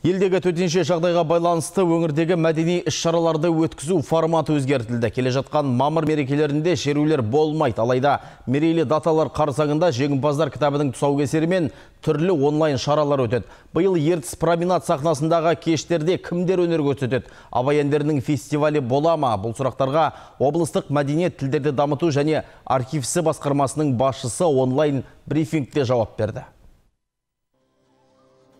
Елдегі төтенше жағдайға байланысты өңірдегі мәдени іс-шараларды өткізу форматы өзгертілді. Келе жатқан мамыр мерекелерінде шерулер болмайды. Алайда мерейлі даталар қарсаңында жеңімпаздар кітабының тұсаукесері мен түрлі онлайн шаралар өтеді. Биыл Ертіс променад сахнасындағы кештерде кімдер өнер көрсетеді? Абай әндерінің фестивалі бола ма? Бұл сұрақтарға облыстық мәдениет тілдерді дамыту және архивісі басқармасының басшысы онлайн брифингте жауап берді.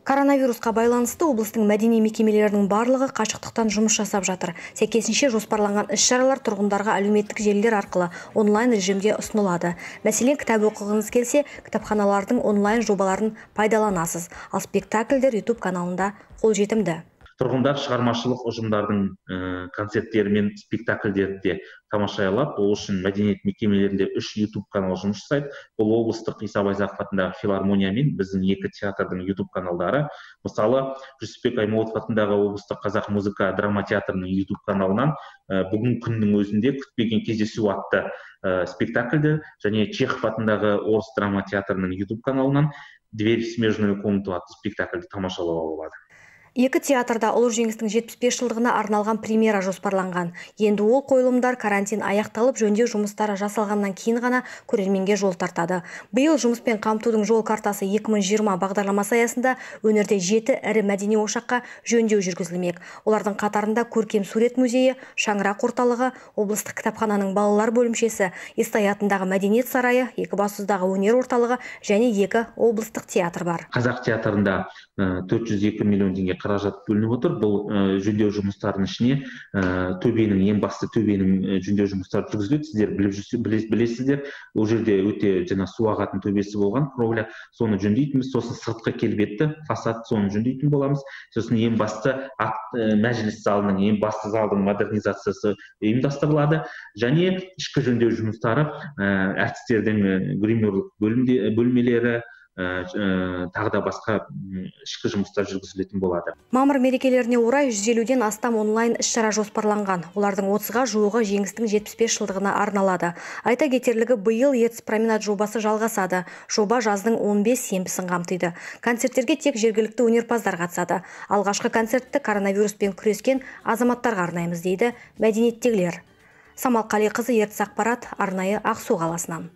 Коронавирусқа байланысты облыстың мәдени мекемелерінің барлығы қашықтықтан жұмыс жасап жатыр. Сәйкесінше жоспарланған іс-шаралар тұрғындарға әлеуметтік желілер арқылы онлайн режимде ұсынылады. Мәселен, кітап оқығыңыз келсе, кітапханалардың онлайн жобаларын пайдаланасыз. Ал спектакльдер YouTube каналында қолжетімді. Тұрғындар шығармашылық ұжымдардың концерттері мен спектакльдерді тамашалай алады. Ол үшін мәдениет мекемелерінде 3 YouTube канал жұмыс жасайды. Бұл облыстық Иса Байзақов атындағы филармония мен біздің 2 театрдың YouTube каналдары. Мысалы, Жүсіпбек Аймауытов атындағы облыстық қазақ музыка драма театрының YouTube каналынан бүгін күннің өзінде күтпеген кездесу атты спектакльді және Чехов атындағы орыс драма театрының YouTube каналынан Дверь в смежную комнату атты спектакльді тамашалауға болады. 2 театрда ұлы жеңістің 75 жылдығына арналған премьера жоспарланған. Енді ол қойылымдар карантин аяқталып, жөндеу жұмыстары жасалғаннан кейін ғана көрерменге жол тартады. Биыл жұмыспен қамтудың жол картасы 2020 бағдарламасы аясында өңірде 7 ірі мәдени ошаққа жөндеу жүргізілмек. Олардың қатарында Көркем сурет музейі, Шаңырақ орталығы, облыстық кітапхананың балалар бөлімшесі, Естай атындағы мәдениет сарайы, Екібастұздағы өнер орталығы және 2 облыстық театр бар. Қазақ театрында 402 миллион теңге қаражат бөлініп отыр. Бұл жөндеу жұмыстарының ішіне ең басты төбенің жөндеу жұмыстары жүргізіледі. Сіздер білесіздер, ол жерде өте су ағатын төбесі болған, кровля, соны жөндейтінбіз. Сосын сыртқы келбетті фасад, соны жөндейтін боламыз. Сосын ең басты мәжіліс залының, ең басты залдың модернизациясы ұйымдастырылады. Және ішкі жөндеу жұмыстары, әртістердің гримерлік бөлмелері, тағы да басқа ішкі жұмыстар жүргізілетін болады. Мамыр мерекелеріне орай 150-ден астам онлайн іс-шара жоспарланған. Олардың 30-ға жуығы жеңістің 75 жылдығына арналады. Айта кетерлігі, биыл Ертіс променад жобасы жалғасады. Жоба жаздың 15 сенбісін қамтиды. Концерттерге тек жергілікті өнерпаздар қатысады. Алғашқы концертті коронавируспен күрескен азаматтарға арнаймыз дейді мәдениеттегілер. Самал Қалиқызы, Ертіс ақпарат, арнайы Ақсу қаласынан.